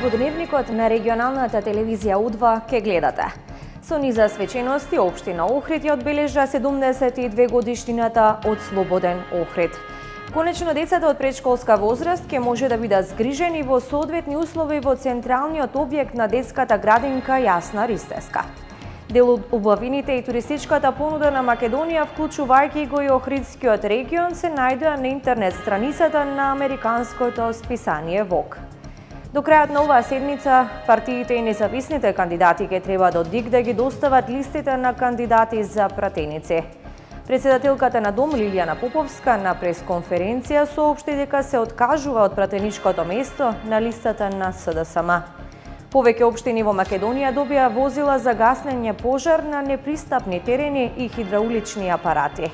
во дневникот на регионалната телевизија У2 ке гледате. Со низа свечености, општина Охрид ја одбележа 72 годишнината од слободен Охрид. Конечно, децата од предшколска возраст ке може да бидат згрижени во соодветни услови во централниот објект на детската градинка Јасна Ристеска. Дел од убавините и туристичката понуда на Македонија, вклучувајќи го и Охридскиот регион, се најдоа на интернет страницата на американското списание Vogue. До крајот на оваа седмица, партиите и независните кандидати ке треба до ДИК да ги достават листите на кандидати за пратеници. Председателката на Дом Лилијана Поповска на пресконференција соопшти дека се откажува од пратеничкото место на листата на СДСМ. Повеќе општини во Македонија добија возила за гаснење пожар на непристапни терени и хидраулични апарати.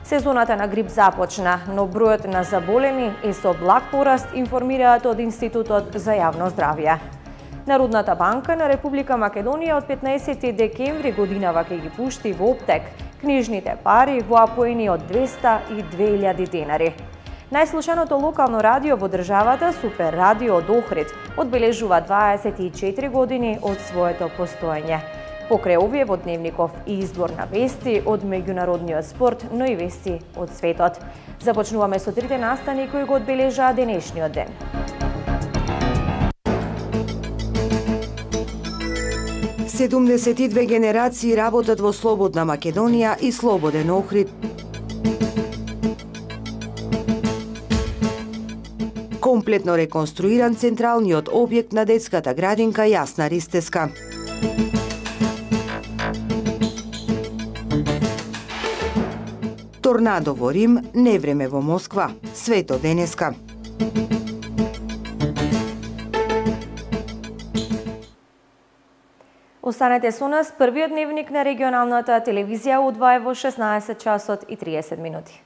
Сезоната на грип започна, но бројот на заболени е со благ пораст, информираат од Институтот за јавно здравје. Народната банка на Република Македонија од 15 декември годинава ќе ги пушти во оптек книжните пари во апоени од 200 и 2000 денари. Најслушаното локално радио во државата, Супер радио од Охрид, одбележува 24 години од своето постоење. Покрај овие во дневников и избор на вести од меѓународниот спорт, но и вести од светот. Започнуваме со трите настани кои го одбележаа денешниот ден. Седумдесет и две генерации работат во слободна Македонија и слободен Охрид. Комплетно реконструиран централниот објект на детската градинка Јасна Ристеска. Торнадо во Рим, невреме во Москва. Свето денеска. Останете со нас, првиот дневник на регионалната телевизија У2 во 16 часот и 30 минути.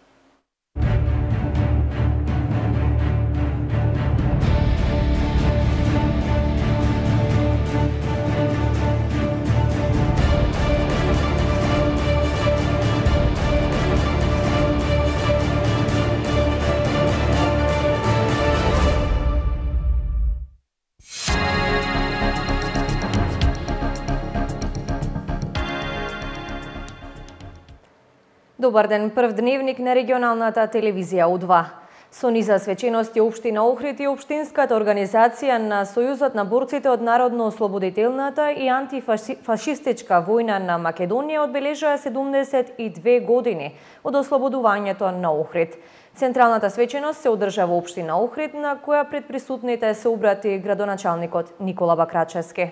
Добар ден, прв дневник на регионалната телевизија У2. Со низа свечености општина Охрид и општинската организација на Сојузот на борците од народно-ослободителната и антифашистичка војна на Македонија одбележаа 72 години од ослободувањето на Охрид. Централната свеченост се одржа во општина Охрид, на која пред присутните се обрати градоначалникот Никола Бакрачевски.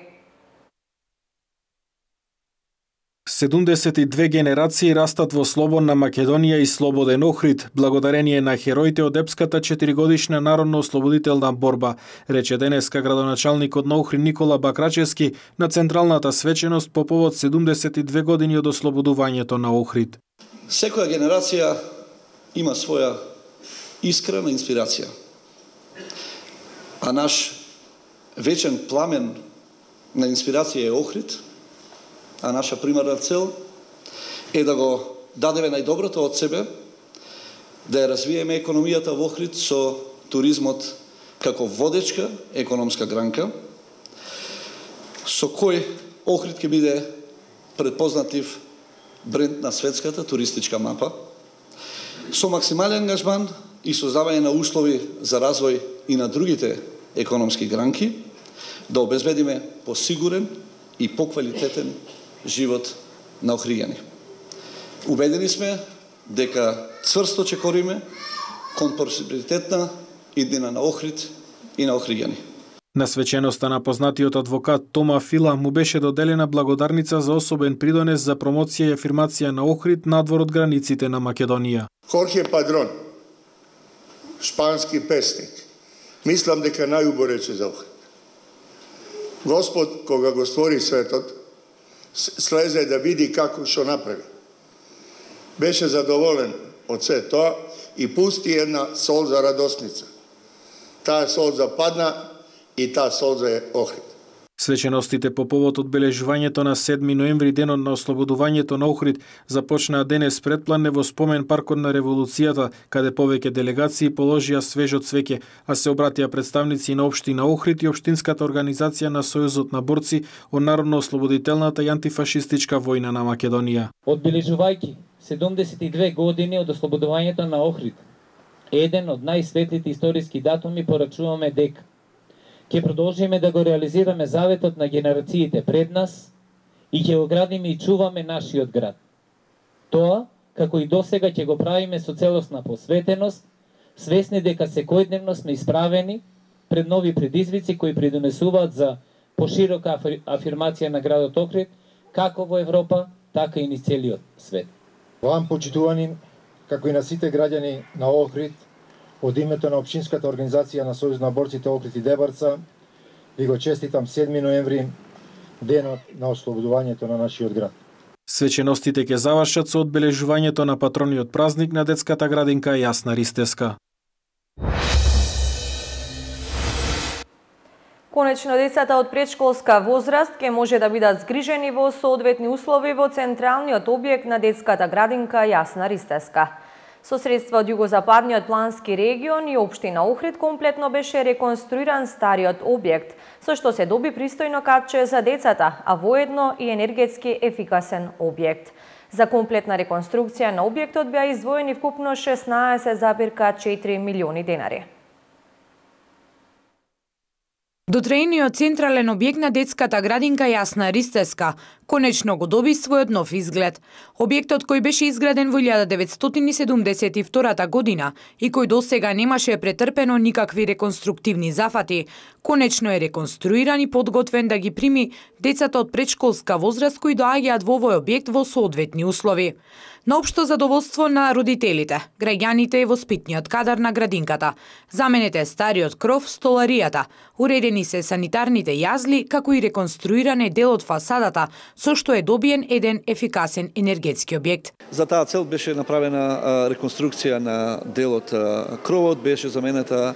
72 генерации растат во слободна Македонија и слободен Охрид, благодарение на хероите од епската 4-годишна народно-ослободителна борба, рече денеска градоначалникот на Охрид Никола Бакрачевски на централната свеченост по повод 72 години од ослободувањето на Охрид. Секоја генерација има своја искрена инспирација. А наш вечен пламен на инспирација е Охрид, а наша примарна цел е да го дадеме најдоброто од себе, да ја развиеме економијата во Охрид со туризмот како водечка економска гранка, со кој Охрид ќе биде предпознатлив бренд на светската туристичка мапа, со максимален ангажман и создавање на услови за развој и на другите економски гранки, да обезбедиме посигурен и поквалитетен живот на охриѓани. Убедени сме дека цврсто чекориме кон просперитетна иднина на Охрид и на охриѓани. На свеченоста на познатиот адвокат Тома Фила му беше доделена благодарница за особен придонес за промоција и афирмација на Охрид надвор од границите на Македонија. Хорхе Падрон, шпански песник, мислам дека најубаво рече за Охрид. Господ, кога го створи светот, слезе да види како што направи. Беше задоволен од се тоа и пусти една солза радосница. Таа солза падна и таа солза е Охрид. Свеченостите по повод одбележувањето на 7 ноември, денот на ослободувањето на Охрид, започнаа денес предплане во спомен паркот на Револуцијата, каде повеќе делегации положија свежо цвеќе, а се обратија представници на општина Охрид и општинската организација на Сојузот на борци од народно-ослободителната и антифашистичка војна на Македонија. Одбележувајќи 72 години од ослободувањето на Охрид, еден од најсветлите историски датуми, порачуваме дека ќе продолжиме да го реализираме заветот на генерациите пред нас и ќе го градиме и чуваме нашиот град. Тоа, како и досега, ќе го правиме со целосна посветеност, свесни дека секојдневно сме исправени пред нови предизвици кои придонесуваат за поширока афирмација на градот Охрид, како во Европа, така и низ целиот свет. Вам, почитувани, како и на сите граѓани на Охрид, од името на Општинската организација на Сојуз на борците Охрид и Дебарца, ви го честитам 7 ноември, денот на ослободувањето на нашиот град. Свеченостите ќе завршат со одбележувањето на патрониот празник на детската градинка Јасна Ристеска. Конечно, децата од предшколска возраст ќе може да бидат згрижени во соодветни услови во централниот објект на детската градинка Јасна Ристеска. Со средства од југозападниот плански регион и општина Охрид комплетно беше реконструиран стариот објект, со што се доби пристојно катче за децата, а воедно и енергетски ефикасен објект. За комплетна реконструкција на објектот беа издвоени вкупно 16,4 милиони денари. Дотрејниот централен објект на детската градинка Јасна Ристеска конечно го доби својот нов изглед. Објектот кој беше изграден во 1972 година и кој досега немаше претрпено никакви реконструктивни зафати, конечно е реконструиран и подготвен да ги прими децата од предшколска возраст кои доаѓаат во овој објект во соодветни услови. На општо задоволство на родителите, граѓаните и воспитниот кадар на градинката, заменет е стариот кров, столаријата, уредени се санитарните јазли, како и реконструиран е дел од фасадата, со што е добиен еден ефикасен енергетски објект. За таа цел беше направена реконструкција на делот кровот, беше заменета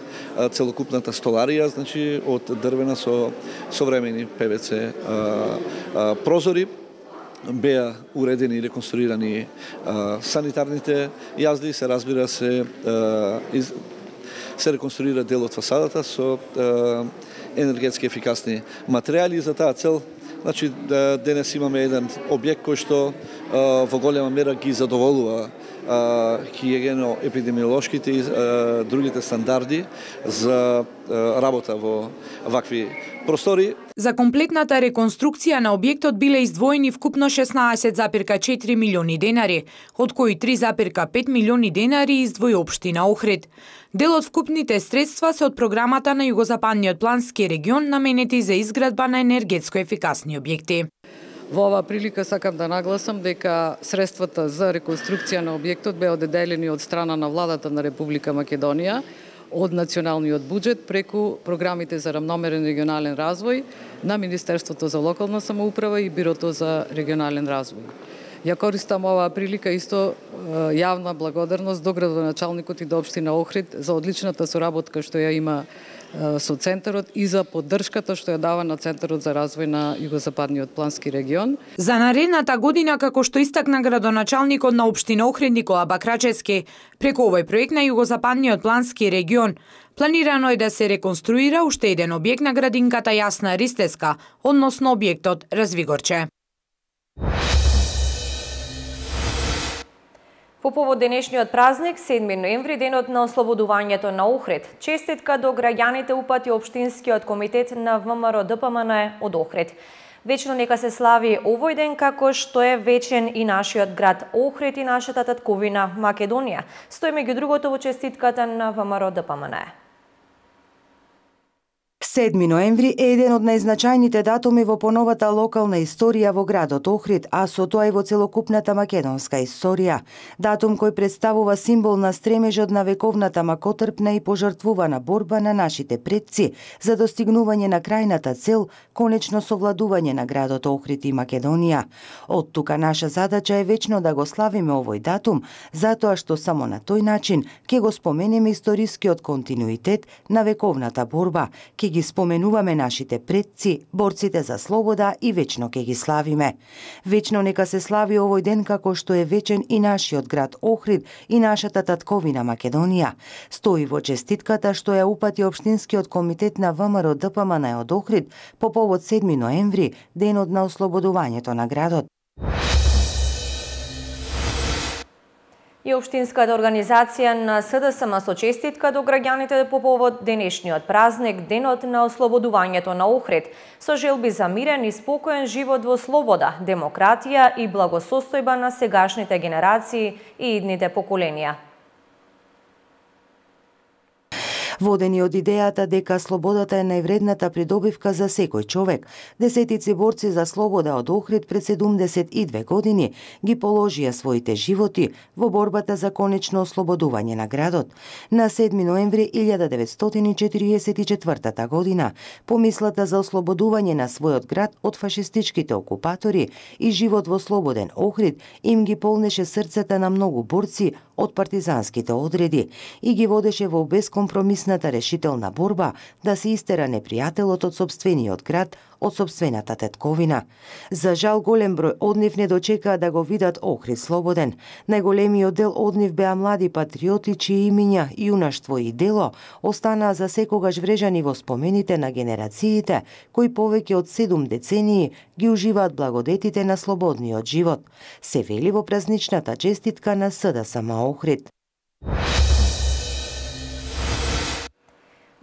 целокупната столарија, значи од дрвена со современи ПВЦ прозори. Беа уредени и реконструирани санитарните јазли, се разбира се реконструира дел од фасадата со енергетски ефикасни материјали. За таа цел, значи, денес имаме еден објект кој што во голема мера ги задоволува хигиено-епидемиолошките и другите стандарди за работа во вакви простори. За комплетната реконструкција на објектот биле издвоени вкупно 16,4 милиони денари, од кои 3,5 милиони денари издвои општина Охрид. Дел од вкупните средства се од програмата на југозападниот плански регион наменети за изградба на енергетско ефикасни објекти. Во оваа прилика сакам да нагласам дека средствата за реконструкција на објектот беа одделени од страна на владата на Република Македонија од националниот буџет преку програмите за рамномерен регионален развој на Министерството за локална самоуправа и Бирото за регионален развој. Ја користам оваа прилика исто јавна благодарност до градоначалникот и до општина Охрид за одличната соработка што ја има со Центарот и за поддршката што ја дава на Центарот за развој на Југозападниот плански регион. За наредната година, како што истакна градоначалникот на општина Охрид Никола Бакрачевски, преку овој проект на Југозападниот плански регион, планирано е да се реконструира уште еден објект на градинката Јасна Ристеска, односно објектот Развигорче. По повод денешниот празник, 7 ноември, денот на ослободувањето на Охрид, честитка до граѓаните упати Општинскиот комитет на ВМРО ДПМН од Охрид. Вечно нека се слави овој ден како што е вечен и нашиот град Охрид и нашата татковина Македонија. Стои меѓу другото во честитката на ВМРО ДПМН. 7 ноември е еден од најзначајните датуми во поновата локална историја во градот Охрид, а со тоа и во целокупната македонска историја. Датум кој представува символ на стремежот на вековната макотрпна и пожртвувана борба на нашите предци за достигнување на крајната цел, конечно совладување на градот Охрид и Македонија. Од тука наша задача е вечно да го славиме овој датум, затоа што само на тој начин ќе го споменеме историскиот континуитет на вековната борба, ќе ги споменуваме нашите предци, борците за слобода и вечно ќе ги славиме. Вечно нека се слави овој ден како што е вечен и нашиот град Охрид и нашата татковина Македонија. Стои во честитката што ја упати Општинскиот комитет на ВМРО ДПМН од Охрид по повод 7 ноември, денот на ослободувањето на градот. И Општинската организација на СДСМ со честитка до граѓаните по повод денешниот празник, денот на ослободувањето на Охрид, со желби за мирен и спокоен живот во слобода, демократија и благосостојба на сегашните генерации и идните поколенија. Водени од идејата дека слободата е највредната придобивка за секој човек, десетици борци за слобода од Охрид пред 72 години ги положија своите животи во борбата за конечно ослободување на градот. На 7 ноември 1944 година, помислата за ослободување на својот град од фашистичките окупатори и живот во слободен Охрид им ги полнеше срцата на многу борци од партизанските одреди и ги водеше во бескомпромисната решителна борба да се истера непријателот од сопствениот град, од сопствената тетковина. За жал, голем број од нив не дочекаа да го видат Охрид слободен. Најголемиот дел од нив беа млади патриоти чии имиња, јунаштво и дело останаа за секогаш врежани во спомените на генерациите кои повеќе од 7 децении ги уживаат благодетите на слободниот живот. Се вели во празничната честитка на СДСМ Охрид.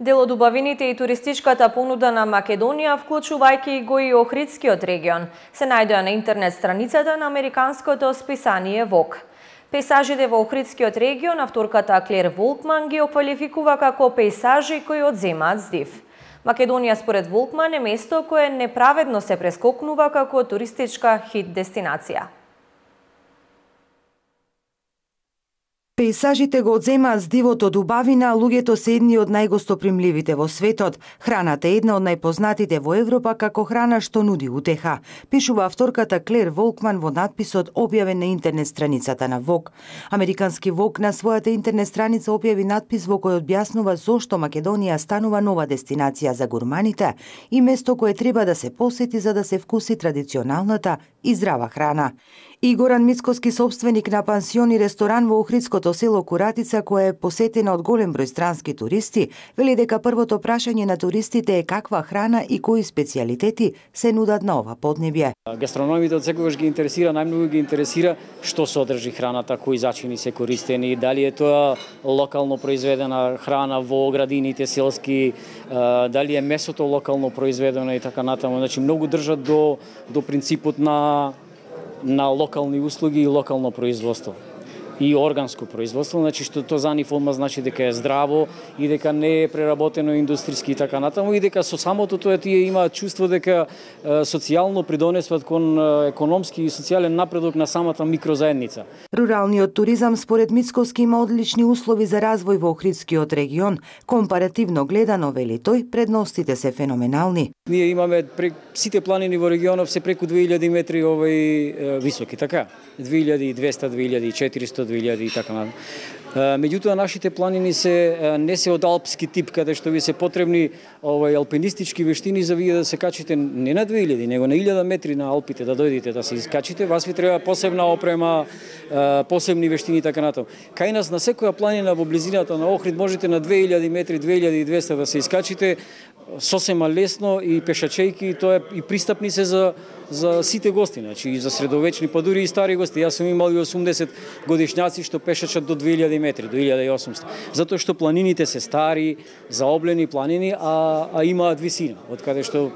Дел од убавините и туристичката понуда на Македонија, вклучувајќи го и Охридскиот регион, се најдоа на интернет страницата на американското списание Vogue. Пейсажите во Охридскиот регион авторката Клер Волкман ги оквалификува како пейсажи кои одземаат здив. Македонија според Волкман е место кое неправедно се прескокнува како туристичка хит дестинација. Пейсажите го одземаат здивот од убавина, луѓето се едни од најгостопримливите во светот. Храната е една од најпознатите во Европа како храна што нуди утеха, пишува авторката Клер Волкман во надписот објавен на интернет страницата на Vogue. Американски Vogue на својата интернет страница објави надпис во кој објаснува зошто Македонија станува нова дестинација за гурманите и место кое треба да се посети за да се вкуси традиционалната и здрава храна. И Горан Мицкоски, собственик на пансион и ресторан во Охридското село Куратица, која е посетена од голем број странски туристи, вели дека првото прашање на туристите е каква храна и кои специјалитети се нудат на ова поднебје. Гастрономите од секогаш ги интересира, најмногу ги интересира што содржи храната, кои зачини се користени, дали е тоа локално произведена храна во градините селски, дали е месото локално произведено и така натаму. Значи многу држат до принципот на локални услуги и локално производство и органско производство, значи што тоа за нив одма значи дека е здраво и дека не е преработено индустријски и така натаму и дека со самото тоа тие имаат чувство дека социјално придонесуваат кон економски и социјален напредок на самата микрозаедница. Руралниот туризам според Мицкоски има одлични услови за развој во Охридскиот регион. Компаративно гледано, вели тој, предностите се феноменални. Ние имаме сите планини во регионов се преку 2000 метри високи, така? 2200, 2400, 2000 и така натаму. Меѓутоа нашите планини не се од алпски тип, каде што ви се потребни алпинистички вештини за вие да се качите не на 2000, него на 1000 метри на Алпите да дојдете да се искачите, вас ви треба посебна опрема, посебни вештини и така натаму. Кај нас на секоја планина во близината на Охрид можете на 2000 метри, 2200 да се искачите сосема лесно и пешачејки, тоа е и пристапни се за сите гости, значи и за средовечни, па дури и стари гости. Јас сум имал и 80 годишњаци што пешачат до 2000 метри, до 1800. Затоа што планините се стари, заоблени планини, а имаат висина, од каде што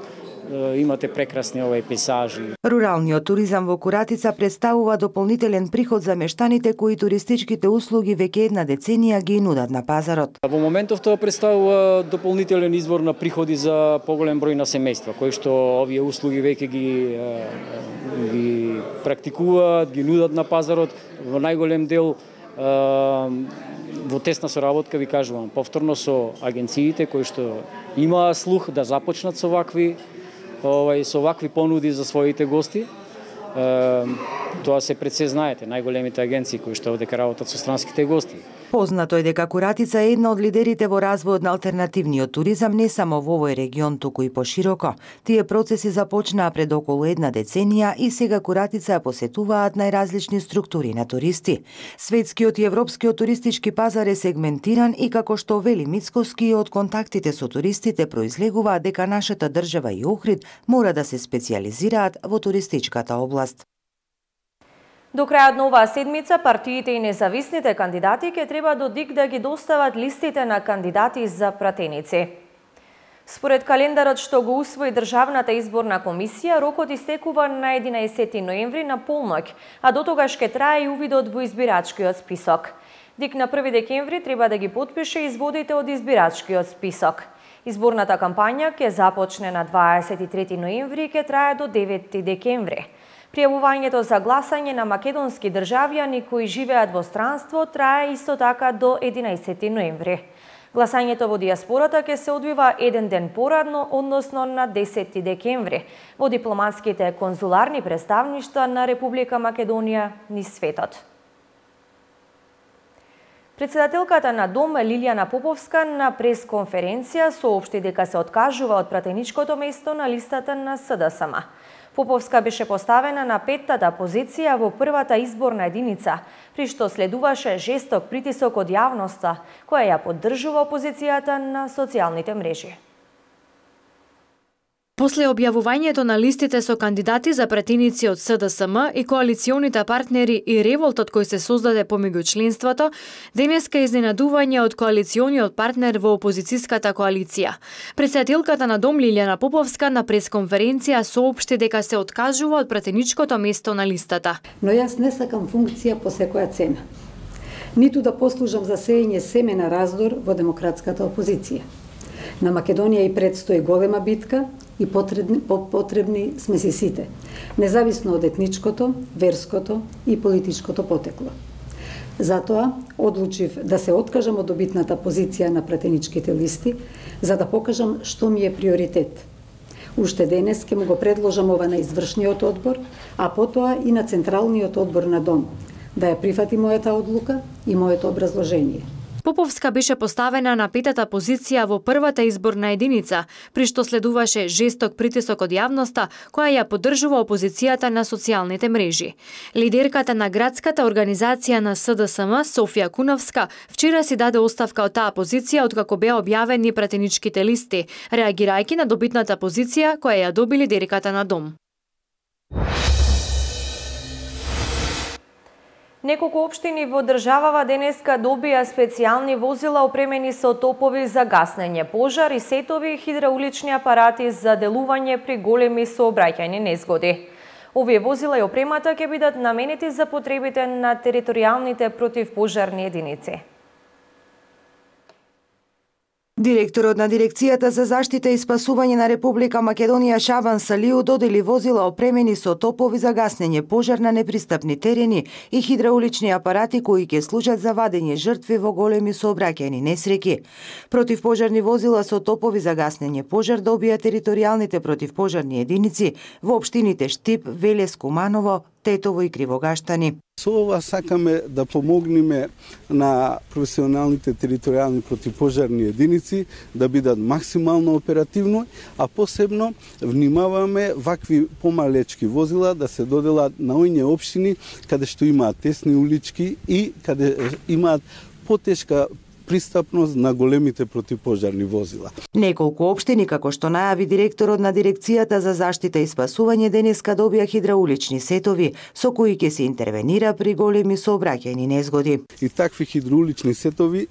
имате прекрасни пейсажи. Руралниот туризам во Куратица представува дополнителен приход за мештаните кои туристичките услуги веќе една деценија ги нудат на пазарот. Во моментов тоа представува дополнителен извор на приходи за поголем број на семејства, кои што овие услуги веќе ги практикуваат, ги нудат на пазарот во најголем дел во тесна соработка, ви кажувам, повторно со агенциите кои што имаа слух да започнат со вакви понуди за своите гости. Тоа се пред се знаете, најголемите агенции кои што одека работат со странските гости. Познато е дека куратица е една од лидерите во развојот на алтернативниот туризам не само во овој регион, туку и пошироко. Тие процеси започнаа пред околу една деценија и сега куратица ја посетуваат најразлични структури на туристи. Светскиот и европскиот туристички пазар е сегментиран и како што вели Мицкоски, од контактите со туристите произлегува дека нашата држава и Охрид мора да се специализираат во туристичката област. До крајот на оваа седмица, партиите и независните кандидати ќе треба до ДИК да ги достават листите на кандидати за пратеници. Според календарот што го усвои Државната изборна комисија, рокот истекува на 11 ноември на полноќ, а до тогаш ќе трае и увидот во избирачкиот список. ДИК на 1 декември треба да ги потпише изводите од избирачкиот список. Изборната кампања ќе започне на 23 ноември и ќе трае до 9 декември. Пријавувањето за гласање на македонски државјани кои живеат во странство трае исто така до 11 ноември. Гласањето во диаспората ќе се одвива еден ден порадно, односно на 10 декември, во дипломатските конзуларни представништва на Република Македонија низ светот. Председателката на Дом Лилијана Поповска на пресконференција соопшти дека се откажува од пратеничкото место на листата на СДСМ. Поповска беше поставена на 5-тата позиција во првата изборна единица, при што следуваше жесток притисок од јавноста, која ја поддржува опозицијата на социјалните мрежи. После објавувањето на листите со кандидати за пратеници од СДСМ и коалиционите партнери и револтот кој се создаде помеѓу членството, денеска изненадување од коалициониот партнер во опозицијската коалиција. Председателката на Дом Лилијана Поповска на пресконференција соопшти дека се откажува од пратеничкото место на листата. Но јас не сакам функција по секоја цена. Ниту да послужам за сеење семе на раздор во демократската опозиција. На Македонија и предстои голема битка и потребни сме си сите, независно од етничкото, верското и политичкото потекло. Затоа одлучив да се откажам од добитната позиција на пратеничките листи, за да покажам што ми е приоритет. Уште денес ќе му го предложам ова на извршниот одбор, а потоа и на Централниот одбор на Дом, да ја прифати мојата одлука и моето образложение. Поповска беше поставена на 5-та позиција во првата изборна единица, при што следуваше жесток притисок од јавноста, која ја поддржува опозицијата на социјалните мрежи. Лидерката на градската организација на СДСМ, Софија Куновска, вчера си даде оставка од таа позиција откако беа објавени пратеничките листи, реагирајќи на добитната позиција која ја доби лидерката на Дом. Неколку општини во државава денеска добија специјални возила опремени со топови за гаснење пожар и сетови хидраулични апарати за делување при големи сообраќајни незгоди. Овие возила и опремата ќе бидат наменети за потребите на територијалните противпожарни единици. Директорот на Дирекцијата за заштита и спасување на Република Македонија Шабан Салиу додели возила опремени со топови за гаснење пожар на непристапни терени и хидраулични апарати кои ќе служат за вадење жртви во големи сообраќајни несреќи. Противпожарни возила со топови за гаснење пожар добија територијалните противпожарни единици во општините Штип, Велес, Куманово, Тетово и Кривогаштани. Со ова сакаме да помогнеме на професионалните територијални противпожарни единици да бидат максимално оперативно, а посебно внимаваме вакви помалечки возила да се доделат на оние општини каде што имаат тесни улички и каде имаат потешка пристапност на големите противпожарни возила. Неколку општини, како што најави директорот на Дирекцијата за заштита и спасување, денеска добија хидраулични сетови со кои ќе се интервенира при големи сообраќајни незгоди. И такви хидраулични сетови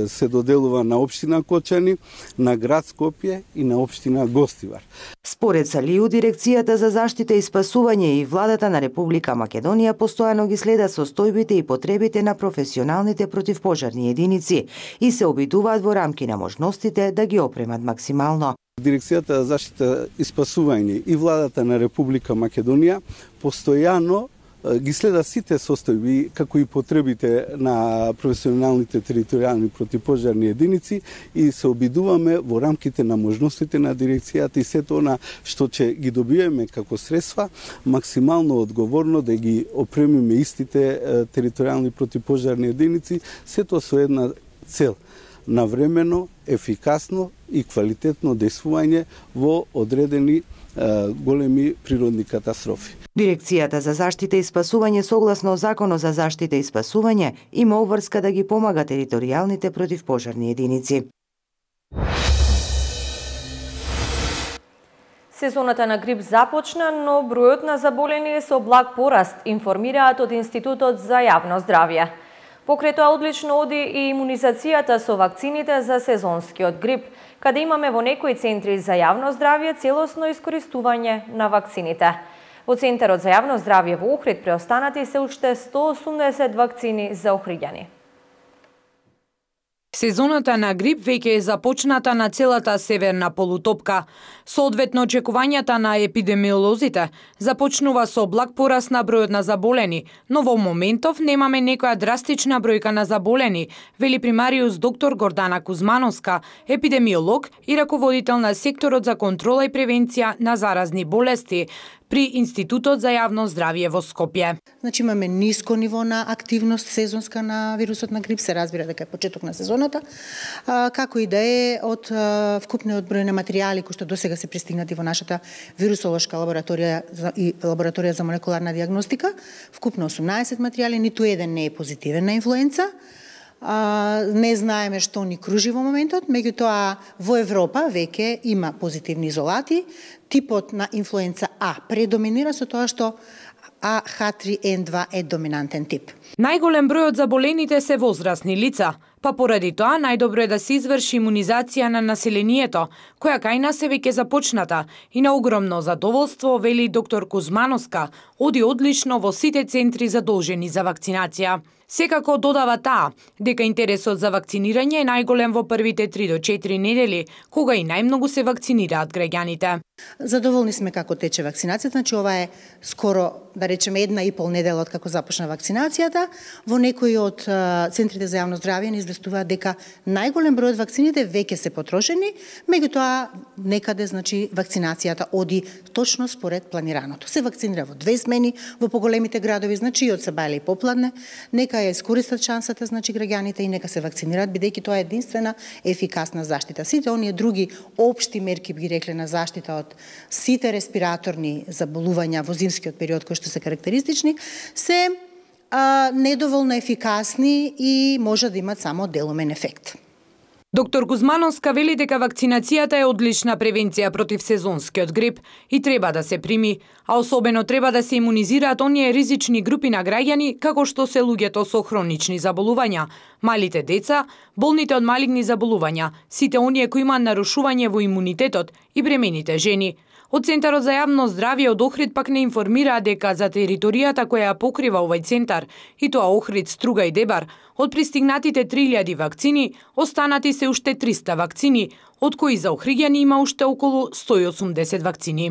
се доделува на општина Кочани, на град Скопје и на општина Гостивар. Според Салиу, Дирекцијата за заштита и спасување и владата на Република Македонија постојано ги следат состојбите и потребите на професионалните противпожарни единици и се обидуваат во рамки на можностите да ги опремат максимално. Дирекцијата за заштита и спасување и владата на Република Македонија постојано ги следа сите состојби, како и потребите на професионалните територијални противпожарни единици и се обидуваме во рамките на можностите на дирекцијата и сето она што ќе ги добиеме како средства, максимално одговорно да ги опремиме истите територијални противпожарни единици, сето со една цел: навремено, ефикасно и квалитетно действување во одредени големи природни катастрофи. Дирекцијата за заштита и спасување согласно Законот за заштита и спасување има обврска да ги помага територијалните противпожарни единици. Сезоната на грип започна, но бројот на заболени е со благ пораст, информираат од Институтот за јавно здравје. Покрај тоа одлично оди и имунизацијата со вакцините за сезонскиот грип, каде имаме во некои центри за јавно здравје целосно искористување на вакцините. Во Центарот за јавно здравје во Охрид преостанати се уште 180 вакцини за охриѓани. Сезоната на грип веќе е започната на целата северна полутопка. Соодветно, очекувањата на епидемиолозите започнува со благ пораст на бројот на заболени, но во моментов немаме некоја драстична бројка на заболени, вели примариус доктор Гордана Кузмановска, епидемиолог и раководител на секторот за контрола и превенција на заразни болести при Институтот за јавно здравје во Скопје. Значи имаме ниско ниво на активност сезонска на вирусот на грип, се разбира дека е почеток на сезоната, како и да е од вкупниот број на материјали кои што досега се пристигнати во нашата вирусолошка лабораторија и лабораторија за молекуларна диагностика, вкупно 18 материјали, ниту еден не е позитивен на инфлуенца. Не знаеме што ни кружи во моментот, меѓутоа во Европа веќе има позитивни изолати. Типот на инфлуенца А предоминира со тоа што H3N2 е доминантен тип. Најголем број од заболените се возрастни лица, па поради тоа најдобро е да се изврши имунизација на населението, која кај нас е веќе започната и на огромно задоволство, вели доктор Кузмановска, оди одлично во сите центри задолжени за вакцинација. Секако додава таа дека интересот за вакцинирање е најголем во првите 3 до 4 недели, кога и најмногу се вакцинираат граѓаните. Задоволни сме како тече вакцинацијата, значи ова е скоро, да речеме, 1,5 недела од како започна вакцинацијата. Во некои од центрите за јавно здравје ни известуваат дека најголем број од вакцините веќе се потрошени, меѓутоа некаде, значи, вакцинацијата оди точно според планираното. Се вакцинира во 2 смени во поголемите градови, значи и од сабајле и попладне. Нека ја искористат шансата, значи, граѓаните и нека се вакцинираат, бидејќи тоа е единствена ефикасна заштита. Сите оние други општи мерки, би ги рекле, на заштита од сите респираторни заболувања во зимскиот период кои што се карактеристични, се недоволно ефикасни и може да имат само делумен ефект. Доктор Кузмановска вели дека вакцинацијата е одлична превенција против сезонскиот грип и треба да се прими, а особено треба да се имунизираат оние ризични групи на граѓани како што се луѓето со хронични заболувања, малите деца, болните од малигни заболувања, сите оние кои имаат нарушување во имунитетот и бремените жени. Од Центарот за јавно здравје од Охрид пак не информира дека за територијата која ја покрива овој центар, и тоа Охрид, Струга и Дебар, од пристигнатите 3000 вакцини, останати се уште 300 вакцини, од кои за охриѓани има уште околу 180 вакцини.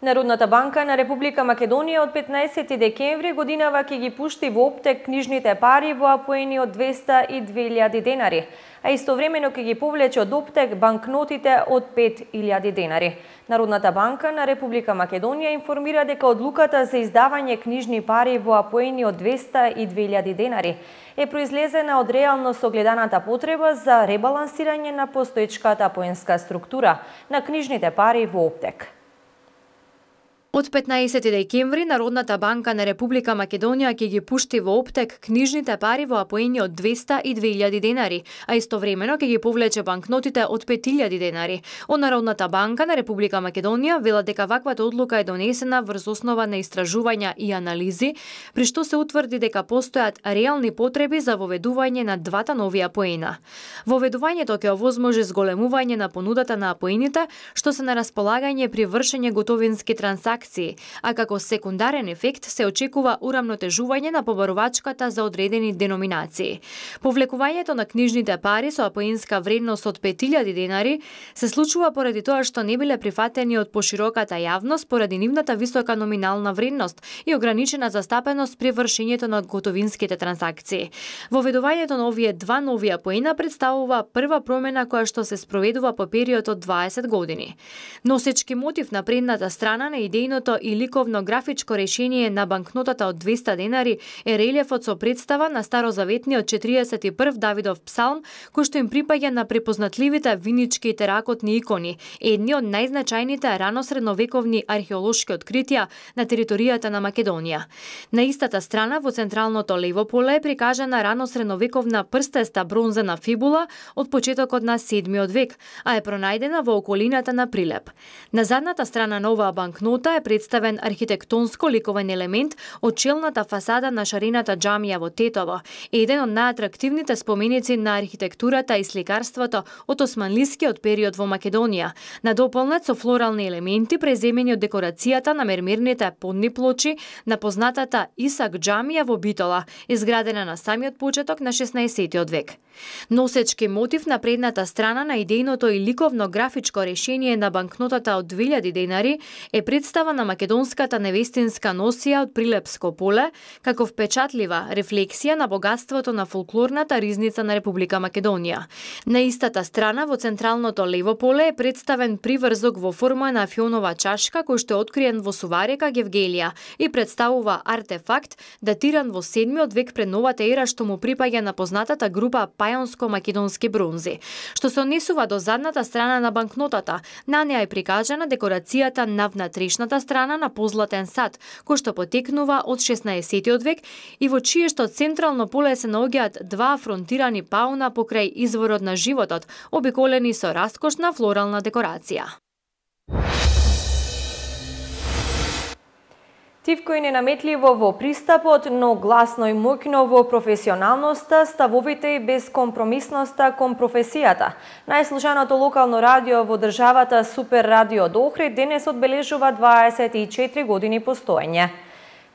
Народната банка на Република Македонија од 15 декември годинава ќе ги пушти во оптек книжните пари во апоени од 200 и 2000 денари, а истовремено ќе ги повлече од оптек банкнотите од 5000 денари. Народната банка на Република Македонија информира дека одлуката за издавање книжни пари во апоени од 200 и 2000 денари е произлезена од реално согледаната потреба за ребалансирање на постоечката апоенска структура на книжните пари во оптек. Од 15 декември Народната банка на Република Македонија ќе ги пушти во оптек книжните пари во апоени од 200 и 2000 денари, а истовремено ќе ги повлече банкнотите од 5000 денари. Од Народната банка на Република Македонија велат дека ваквата одлука е донесена врз основа на истражувања и анализи, при што се утврди дека постојат реални потреби за воведување на двата нови апоена. Воведувањето ќе овозможи зголемување на понудата на апоените, што се на располагање при вршење готовински трансакции транзакции, а како секундарен ефект се очекува урамнотежување на побарувачката за одредени деноминации. Повлекувањето на книжните пари со апоинска вредност од 5000 денари се случува поради тоа што не биле прифатени од пошироката јавност поради нивната висока номинална вредност и ограничена застапеност при вршењето на готовинските транзакции. Воведувањето на овие два нови апоина представува прва промена која што се спроведува по период од 20 години. Носечки мотив на предната страна на идејното и ликовно графичко решение на банкнотата од 200 денари е релјефот со представа на старозаветниот 41 Давидов псалм, кој што им припаѓа на препознатливите винички и теракотни икони, едни од најзначајните рано-средновековни археолошки откритија на територијата на Македонија. На истата страна, во централното лево поле е прикажана рано-средновековна прстеста бронзена фибула од почетокот на 7 век, а е пронајдена во околината на Прилеп. На задната страна на оваа банкнота е представен архитектонско ликовен елемент од челната фасада на шарената џамија во Тетово, еден од најатрактивните споменици на архитектурата и сликарството од османлискиот период во Македонија, надополнет со флорални елементи преземени од декорацијата на мермерните подни плочи на познатата Исак џамија во Битола, изградена на самиот почеток на 16 век. Носечки мотив на предната страна на идејното и ликовно графичко решение на банкнотата од 2000 денари е представа на македонската невестинска носија од Прилепско поле, како впечатлива рефлексија на богатството на фолклорната ризница на Република Македонија. На истата страна, во централното лево поле е представен приврзок во форма на фионова чашка кој што е откриен во Суварека, Гевгелија и представува артефакт датиран во 7 век пред новата ера што му припаѓа на познатата група пајонско-македонски бронзи. Што се однесува до задната страна на банкнотата, на неа е прикажана декорацијата на внатрешната страна на позлатен сад, кој што потекнува од 16 век и во чиешто централно поле се наоѓаат два афронтирани пауна покрај изворот на животот, обиколени со раскошна флорална декорација. Тивко и ненаметливо во пристапот, но гласно и моќно во професионалноста, ставовите и безкомпромисноста кон професијата. Најслушаното локално радио во државата Супер Радио од Охрид денес одбележува 24 години постоење.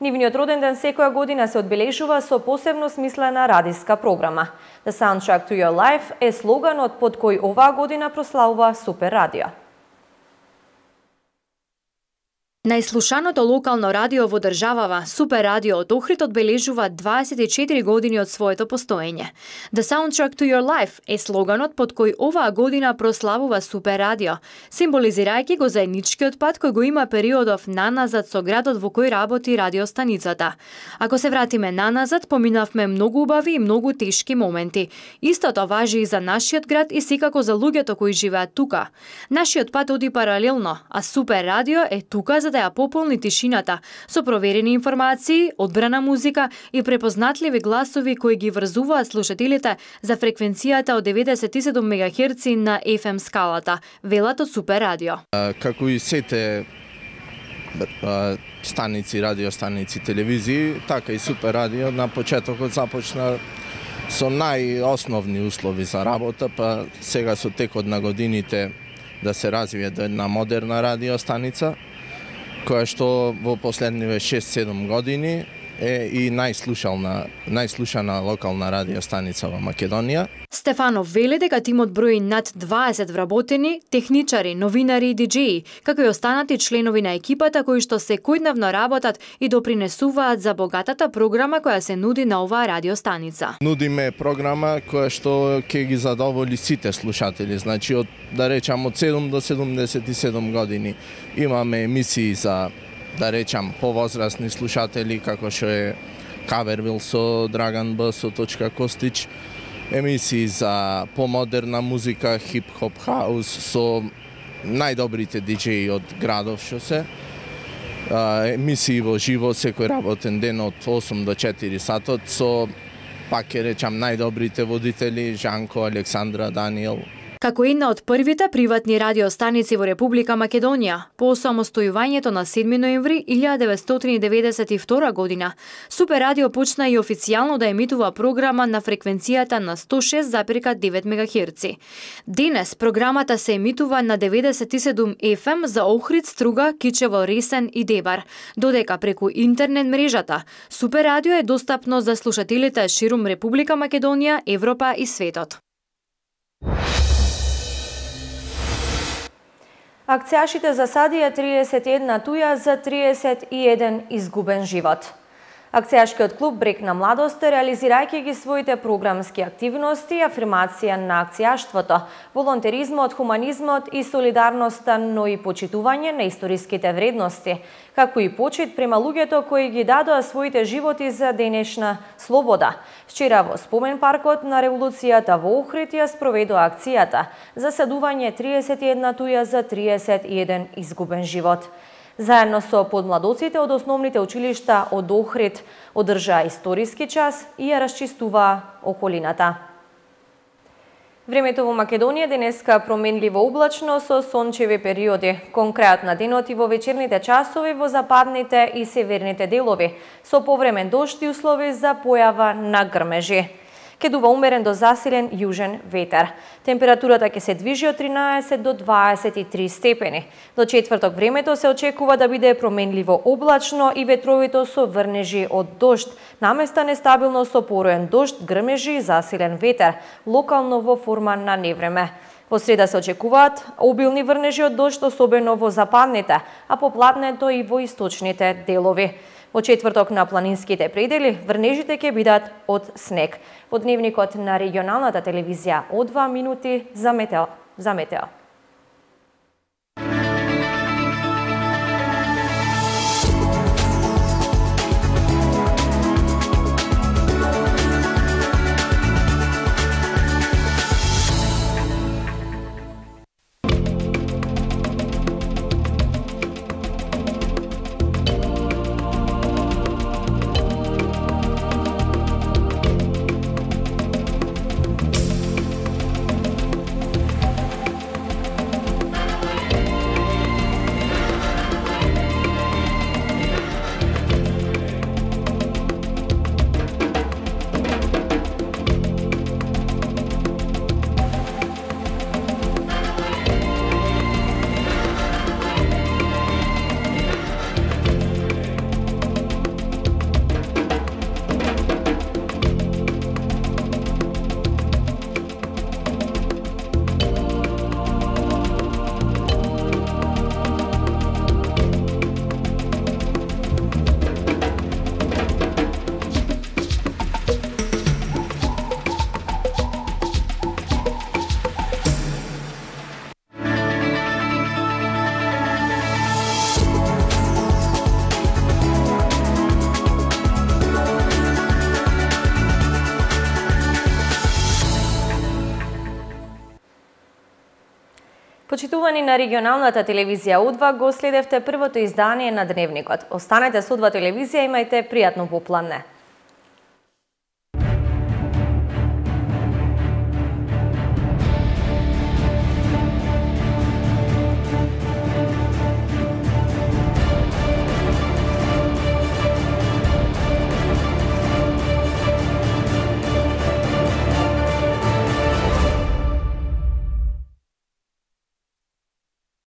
Нивниот роден ден секоја година се одбележува со посебно смислена радиска програма. The Soundtrack to Your Life е слоганот под кој оваа година прославува Супер Радио. Најслушаното локално радио во државава, Супер Радио од Охрид одбележува 24 години од своето постоење. The Soundtrack to Your Life е слоганот под кој оваа година прославува Супер Радио, символизирајќи го заедничкиот пат кој го има периодов наназад со градот во кој работи радиостаницата. Ако се вратиме наназад, поминавме многу убави и многу тешки моменти. Истото важи и за нашиот град и секако за луѓето кои живеат тука. Нашиот пат оди паралелно, а Супер Радио е тука за да ја пополни тишината со проверени информации, одбрана музика и препознатливи гласови кои ги врзуваат слушателите за фреквенцијата од 97 МГц на FM скалата, велат од Супер Радио. Како и сите станици, радиостаници, телевизии, така и Супер Радио на почетокот започна со најосновни услови за работа, па сега со текот на годините да се развие до една модерна радиостаница, која што во последниве 6-7 години е и најслушана локална радиостаница во Македонија. Стефанов вели дека тимот брои над 20 вработени, техничари, новинари и диџеи, како и останати членови на екипата кои што секојдневно работат и допринесуваат за богатата програма која се нуди на оваа радиостаница. Нудиме програма која што ќе ги задоволи сите слушатели, значи од да речам од 7 до 77 години. Имаме емисии за да речам повозрастни слушатели како што е Кавервил со Драган Б, со Точка Костич, емисии за помодерна музика, хип-хоп, хаус со најдобрите диџеи од градов што се. Емисии во живо секој работен ден од 8 до 4 сатот со пак ќе речам најдобрите водители Жанко, Александра, Даниел. Како една од првите приватни радиостаници во Република Македонија, по осамостојувањето на 7 ноември 1992 година, Супер радио почна и официјално да емитува програма на фреквенцијата на 106,9 МГц. Денес програмата се емитува на 97 FM за Охрид, Струга, Кичево, Ресен и Дебар, додека преку интернет мрежата Супер радио е достапно за слушателите ширум Република Македонија, Европа и светот. Акцијашите засадија 31 туја за 31 изгубен живот. Акцијашкиот клуб Брег на младост, реализирајќи ги своите програмски активности, афирмација на акцијаштвото, волонтеризмот, хуманизмот и солидарноста, но и почитување на историските вредности, како и почит према луѓето кои ги дадоа своите животи за денешна слобода. Вчера во спомен паркот на револуцијата во Охрид ја спроведоа акцијата засадување 31 туја за 31 изгубен живот. Заедно со подмладоците од основните училишта од Охрид одржаа историски час и ја расчистуваа околината. Времето во Македонија денеска променливо облачно со сончеви периоди, кон крајот на денот и во вечерните часови во западните и северните делови, со повремен дожд и услови за појава на грмежи. Ке дува умерен до засилен јужен ветер. Температурата ќе се движи од 13 до 23 степени. До четврток времето се очекува да биде променливо облачно и ветровито со врнежи од дожд, наместа нестабилно со пороен дожд, грмежи и засилен ветер, локално во форма на невреме. Во среда се очекуваат обилни врнежи од дожд, особено во западните, а поплатнето и во источните делови. Во четврток на планинските предели врнежите ќе бидат од снег. Во дневникот на регионалната телевизија од 2 минути за метео. Почитувани на регионалната телевизија У2, го следевте првото издание на Дневникот. Останете со У2 телевизија, имајте пријатно попладне.